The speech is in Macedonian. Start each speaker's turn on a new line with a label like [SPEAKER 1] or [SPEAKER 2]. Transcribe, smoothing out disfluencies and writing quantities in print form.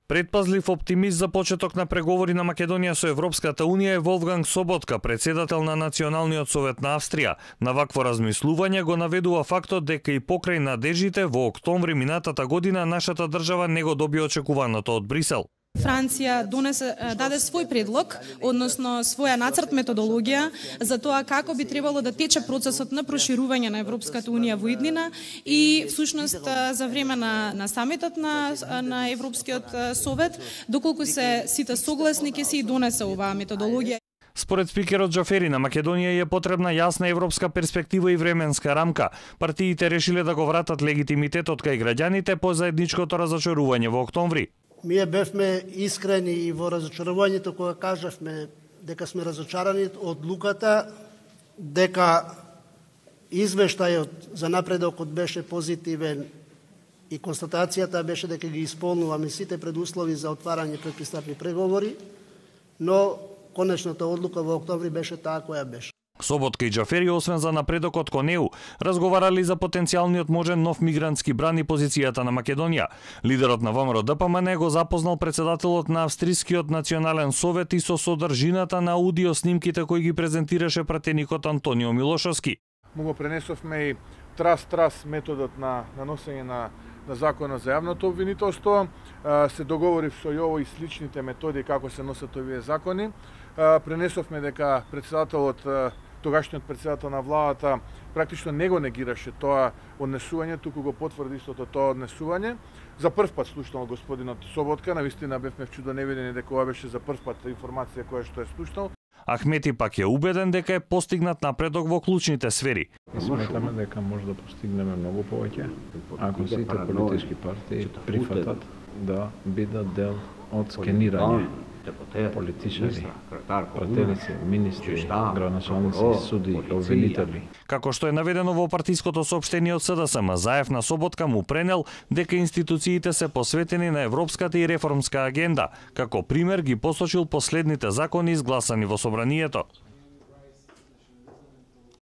[SPEAKER 1] Предпазлив оптимист за почеток на преговори на Македонија со Европската Унија е Волфганг Соботка, председател на Националниот совет на Австрија. На вакво размислување го наведува фактот дека и покрај надежите во октомври минатата година нашата држава не го доби очекуваното од Брисел.
[SPEAKER 2] Франција даде свој предлог, односно своја нацрт методологија за тоа како би требало да тече процесот на проширување на Европската Унија во иднина и всушност за време на самитот на Европскиот совет, доколку се сите согласни ќе се и донесе оваа методологија.
[SPEAKER 1] Според спикерот Џафери, на Македонија е потребна јасна европска перспектива и временска рамка. Партиите решиле да го вратат легитимитетот кај граѓаните по заедничкото разочарување во октомври.
[SPEAKER 3] Ние бевме искрени и во разочарувањето кога кажавме дека сме разочарани од одлуката, дека извештајот за напредокот беше позитивен и констатацијата беше дека ги исполнуваме сите предуслови за отварање предпристапни преговори, но конечната одлука во октомври беше таа која беше.
[SPEAKER 1] Соботка и Џафери, освен за напредокот кон ЕУ, разговарали за потенцијалниот можен нов мигрантски бран и позицијата на Македонија. Лидерот на ВМРО-ДПМН го запознал председателот на Австрискиот национален совет и со содржината на аудио снимките кои ги презентираше пратеникот Антонио Милошовски.
[SPEAKER 4] Му го пренесовме и трас методот на носење на законот за јавното обвинителство. Се договорив со Јово и сличните методи како се носат овие закони. Пренесовме дека председателот, тогашниот председател на владата, практично не го негираше тоа однесување, туку го потврди истото тоа однесување. За прв пат слушнал господинот Соботка, навистина бевме чудоневидени дека ова беше за прв пат информација која што е слушнал.
[SPEAKER 1] Ахмети пак е убеден дека е постигнат напредок во клучните сфери.
[SPEAKER 5] Сметаме дека може да постигнеме многу повеќе ако сите политички партии прифатат да бидат дел од скенирање политичари, пратеници, министри, граначалници, суди, обвинители.
[SPEAKER 1] Како што е наведено во партиското соопштение од СДСМ, Заев на Соботка му пренел дека институциите се посветени на европската и реформска агенда. Како пример ги посочил последните закони изгласани во собранието.